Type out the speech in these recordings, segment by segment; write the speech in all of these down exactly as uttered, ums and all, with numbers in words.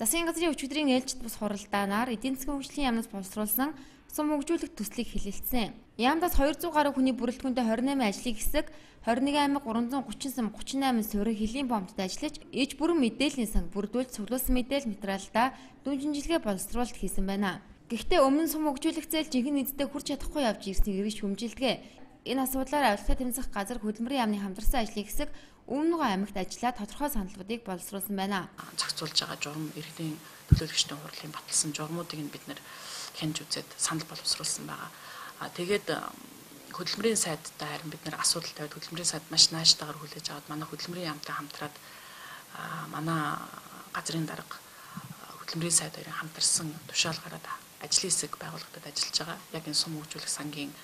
Засгийн газрын өчигдрийн ээлжид бус хуралдаанаар эдийн засгийн хөгжлийн яамнаас боловсруулсан сум хөгжүүлэх төслийг хэлэлцсэн. Яамдаас хоёрдугаар гаруй хүний бүрэлдэхүүнтэй двадцать восемь ажлын хэсэг, двадцать нэг аймаг гуравдуй гучин сум гучин восемь суурин хөлийн бомбд ажиллаж, иж бүрэн мэдээллийн санг бүрдүүлж цуглуулсан мэдээлэл материалдаа дүн шинжилгээ боловсруулалт хийсэн байна. Гэхдээ өмнө сум хөгжүүлэх зээл жинхэнэ нийтэд хүрч чадахгүй явж ирснийг эргэж хүмжилдэг. Энэ асуудлаар авилгын тэмцэх газар хөдөлмөрийн яамны хамтарсан ажлын хэсэг өмнөгөө аймагт ажиллаад тодорхой саналуудыг боловсруулсан байна. Зохицуулж байгаа журам иргэдийн төлөөлөгчдийн хурлын баталсан журмуудыг бид нэр хянж үзээд санал боловсруулсан байгаа. Тэгээд хөдөлмөрийн сайдтай харин бид нэр асуудал тавиад хөдөлмөрийн сайд маш наашдаагаар хүлээж аваад манай хөдөлмөрийн яамтай хамтраад манай газрын дарга хөдөлмөрийн сайд хоёрын хамтарсан тушаал гараад ажлын хэсэг байгууллагад ажиллаж байгаа. Яг энэ сум хөгжүүлэх сангийн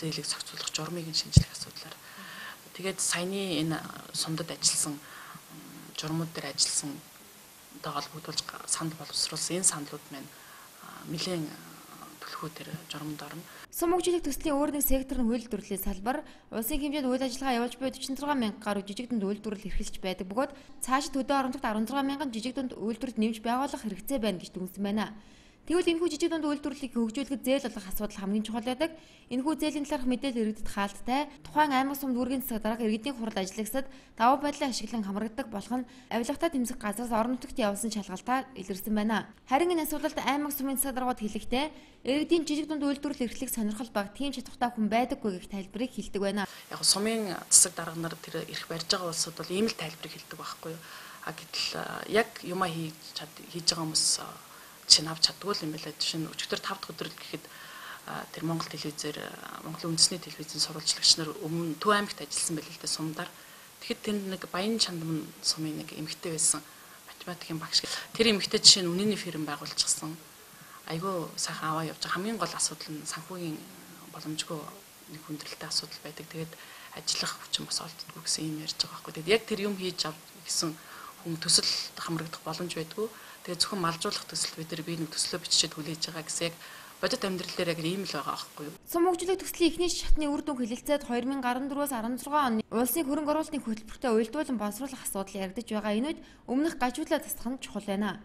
зээлийг зохицуулах журмыг шинжлэх асуудлаар тэгээд саяны энэ сумдад ажилласан журмууд дээр ажилласан даа холбогдуулж санд боловсруулсан энэ саналууд маань нэлээд төлхөө төр журманд орно. Сум хөгжүүлэх төслийн өөр нэг сектор нь хууль дүрлийн салбар, улсын хэмжээнд үйл ажиллагаа явуулж буй forty-six мянга гаруй жижиг дунд үйлдвэрлэл эрхэлж байдаг бөгөөд цаашид төдөө оронцогт sixteen мянган жижиг дунд үйлдвэрлэлд нэмж байгуулах хэрэгцээ байна гэж дүгнсэн байна. Тэгвэл энэхүү жижиг дунд үйлдвэрлэлийг хөгжүүлэхэд зээл олох асуудал хамгийн чухал байдаг. Энэхүү зээлийн талаарх мэдээлэл иргэдэд хаалттай. Тухайн аймаг сум дүүргийн засаг дарга иргэдийн хурал ажиллагсад давуу байдлаа ашиглан хамрагддаг болох нь авилгатай тэмцэх газраас орон нутагт явсан шалгалтаар илэрсэн байна. Харин энэ асуудалд аймаг сумын засаг даргууд хэлэхдээ иргэдийн жижиг дунд үйлдвэрлэл эрхлэх сонирхол баг тийм чадвартай хүн байдаггүй гэх тайлбарыг хэлдэг байна. Яг сумын засаг дарга нар тэр эрх барьж байгаа улсууд бол ийм л тайлбарыг хэлдэг байхгүй юу? А гэтэл яг юмаа хийж хийж байгаа хүмүүс чинь авч чаддгүй юм байна. Жишээ нь өчигдөр five дахь өдөр гэхэд тэр Монгол телевизээр Монголын үндэсний телевизийн сурвалжлагч нар өмнө Төв аймагт ажилласан байл л дээ сумдаар. Тэгэхэд тэр нэг Баян Чандман сумын нэг эмэгтэй байсан математикийн багш. Тэр эмэгтэй жишээ нь үнэний фирм байгуулчихсан. Айгүй сайхан аваа явж байгаа. Хамгийн гол асуудал нь санхүүгийн боломжгүй нэг хүндрэлтэй асуудал байдаг. Тэгээд ажиллах хүчин бас олддоггүй гэсэн юм ярьж байгаа байхгүй. Тэгээд яг тэр юм хийж ав гэсэн хүн төсөл хамрагдах боломж байдгүй. Тэгээ зөвхөн малжуулах төсөл бид нар би нэг төслөө бичиж хүлээж байгаа гэсэн яг бодит амьдрал дээр яг ийм л байгаа байхгүй юу. Сум хөгжүүлэх төслийн эхний шатны үр дүн хэлэлцээд two thousand fourteen-аас sixteen оны улсын хөрөнгө оруулалтын хөтөлбөртөө уялдуулан боловсруулах асуудал яригдж байгаа. Энэ үед өмнөх гажуудлаа засах нь чухал байна.